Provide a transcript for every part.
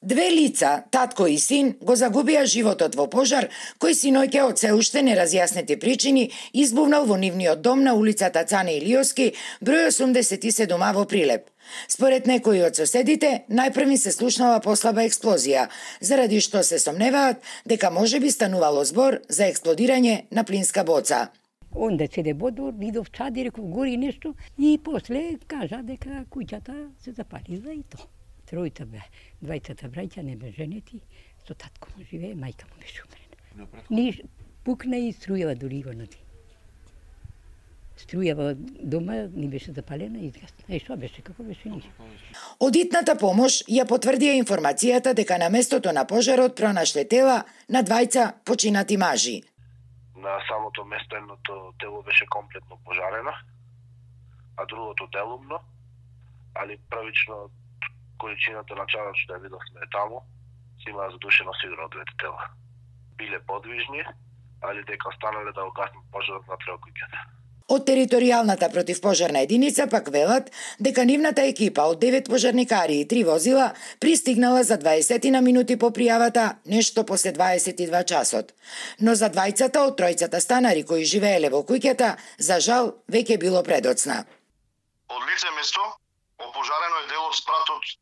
Две лица, татко и син, го загубија животот во пожар кој синоќа од се уште неразјаснети причини избувнал во нивниот дом на улицата Цане Илиовски, број 87А во Прилеп. Според некои од соседите, најпрви се слушнала послаба експлозија, заради што се сомневаат дека можеби станувало збор за експлодирање на плинска боца. Онда седе бодор, видов чади, реков гори нешто и после кажа дека куќата се запалила и то. Тројта бе, двајцата браќа не бе женети, со татко му живее, мајка му беше умрена. Ниш пукна и струјава дури го нади. Струјава дома ни беше запалена и изгасна. И што беше, како беше ништо. Одитната помош ја потврдија информацијата дека на местото на пожарот пронашле тела на двајца починати мажи. На самото место едното тело беше комплетно пожарено, а другото делумно, али првично количината на чадар што ја видовме таму, се имаа задушено сигурно двете тела. Биле подвижни, али дека останале да угаснат пожарот на куќата. Од територијалната противпожарна единица пак велат дека нивната екипа од 9 пожарникари и 3 возила пристигнала за 20 на минути по пријавата, нешто после 22 часот. Но за двајцата од тројцата станари кои живееле во куќата, за жал, веќе било предоцна. Од лице место опожарено е дел од спратот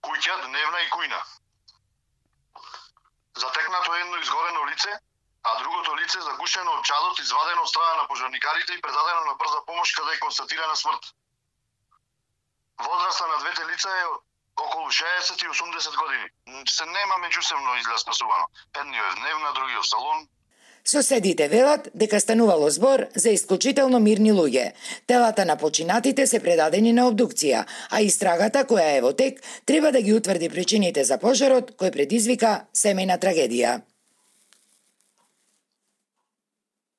куќа, дневна и кујна. Затекнато е едно изгорено лице, а другото лице загушено од чадот, извадено од страна на пожарникарите и предадено на брза помош каде е констатирана смрт. Возраста на двете лица е околу 60 и 80 години. Се нема меѓусебно изгласувано. Едниот е дневна, другиот в салон. Соседите велат дека станувало збор за исклучително мирни луѓе. Телата на починатите се предадени на обдукција, а истрагата која е во тек треба да ги утврди причините за пожарот кој предизвика семејна трагедија.